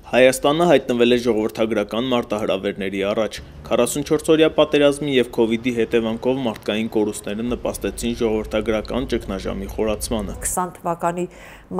Հայաստանը հայտնվել է ժողովրդագրական մարտահրավերների առաջ։ 44-օրյա պատերազմի և քովիդի հետևանքով մարդկային կորուստները նպաստեցին ժողովրդագրական ճգնաժամի խորացմանը։ 20 թվականի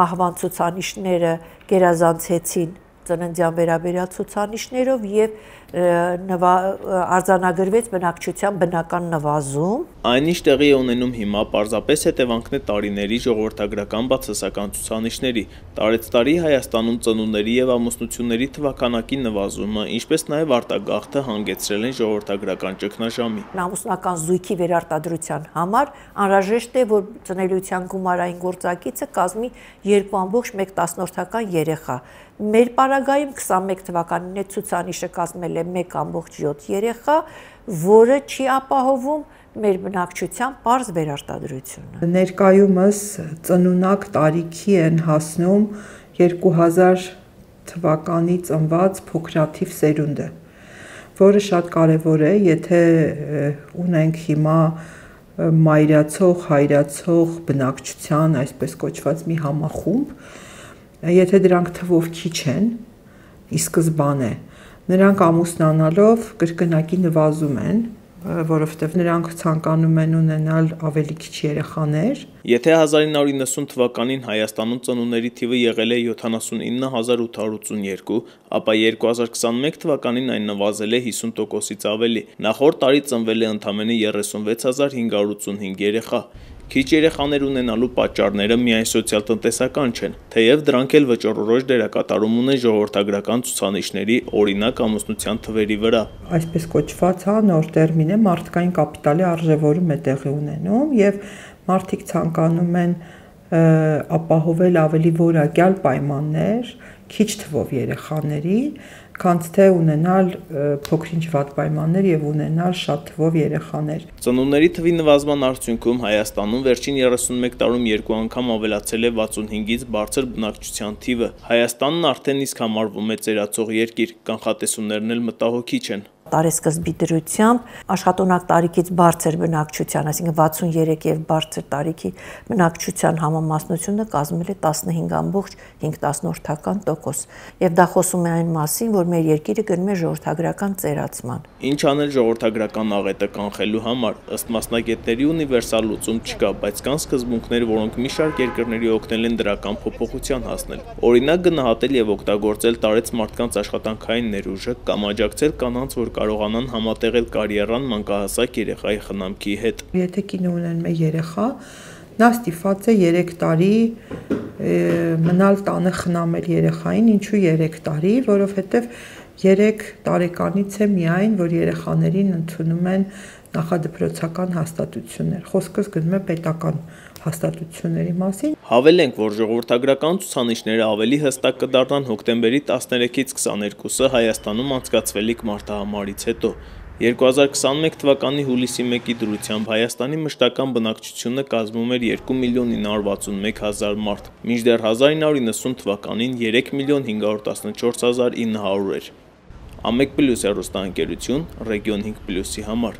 մահվան ցուցանիշները գերազանցեցին ծննդյան վերաբերյալ ցուցանիշներով և արձանագրվեց բնակչության բնական նվազում։ Այն ինչ տեղի է ունենում հիմա պարզապես հետևանքն է տարիների ժողովրդագրական բացասական ցուցանիշների։ Տարեցտարի Հայաստանում ծնունդների և ամուսնությունների թվականակի նվազումը, ինչպես նաև արտագաղթը հանգեցրել են ժողովրդագրական ճգնաժամի։ Ամուսնական զույգի վերարտադրության համար անհրաժեշտ է, որ ծնելիության գումարային գործակիցը կազմի 2,1 երեխա։ Մեր պարագայում 21 թվականին այդ ցուցանիշը կազմել է 1,7 երեխա, որը չի ապահովում մեր բնակչության պարզ վերարտադրությունը։ Ներկայումս ծնունակ տարիքի են հասնում 2000 թվականի ծնված փոքրաթիվ սերունդը, որը շատ կարևոր է, եթե ունենք հիմա մայրացող, հայրացող բնակչության, այսպես կոչված մի համախումբ, եթե դրանք թվով քիչ են, ի սկզբանե, նրանք ամուսնանալով կրկնակի նվազում են, որովհետև նրանք ցանկանում են ունենալ ավելի քիչ երեխաներ։ Եթե 1990 թվականին Հայաստանում ծնունդների թիվը եղել է 79882, ապա 2021 թվականին այն նվազել է 50%-ից ավելի։ Նախորդ տարի ծնվել է ընդամենը 36585 երեխա։ Քիչ երեխաներ ունենալու պատճառները միայն սոցիալ-տնտեսական չեն, թեև դրանք էլ վճռորոշ դերակատարում ունեն ժողովրդագրական ցուցանիշների, օրինակ ամուսնության թվերի վրա։ Այսպես կոչված նոր տերմին է, մարդկային կապիտալի արժևորում է տեղի ունենում և մարդիկ ցանկանում են ապահովել ավելի որակյալ պայմաններ քիչ թվով երեխաների, քան թե ունենալ փոքր-ինչ վատ պայմաններ և ունենալ շատ թվով երեխաներ։ Ծնունդների թվի նվազման արդյունքում Հայաստանում վերջին 31 տարում 2 անգամ ավելացել է 65-ից բարձր բնակչության թիվը։ Հայաստանն արդեն իսկ համարվում է ծերացող երկիր, կանխատեսումներն էլ մտահոգիչ են։ Տարեսկզբի դրությամբ աշխատունակ տարիքից բարձր բնակչության, այսինքն 63 և բարձր տարիքի բնակչության համամասնությունը կազմել է 15,5%, և դա խոսում է այն մասին, որ մեր երկիրը գնում է ժողովրդագրական ծերացման։ Ինչ անել ժողովրդագրական աղետը կանխելու համար, ըստ մասնագետների ունիվերսալ լուծում չկա, բայց կան սկզբունքներ, որոնք մի շարք երկրների օգնել են դրական փոփոխության հասնել։ Օրինակ գնահատել և օգտագործել տարեց մարդկանց աշխատանքային ներուժը կամ աջակցել կանանց, որ կարողանան համատեղել կարիերան մանկահասակ երեխայի խնամքի հետ։ Եթե կինը ունեն մեկ երեխա, նա ստիպված է 3 տարի մնալ տանը խնամել երեխային, ինչու 3 տարի, որովհետև 3 տարեկանից է միայն, որ երեխաներին ընդունում են նախադպրոցական հաստատություններ, խոսքս գնում է պետական հաստատությունների մասին։ Հավելենք, որ ժողովրդագրական ցուցանիշները ավելի հստակ կդառնան հոկտեմբերի 13-ից 22-ը Հայաստանում անցկացվելիք մարտահամարից հետո։ 2021 թվականի հուլիսի 1-ի դրությամբ Հայաստանի մշտական բնակչությունը կազմում էր 2,961,000 մարդ, մինչդեռ 1990 թվականին 3,514,900 էր։ Ամեկ պլյուս հեռուստաընկերություն, Region 5+-ի համար։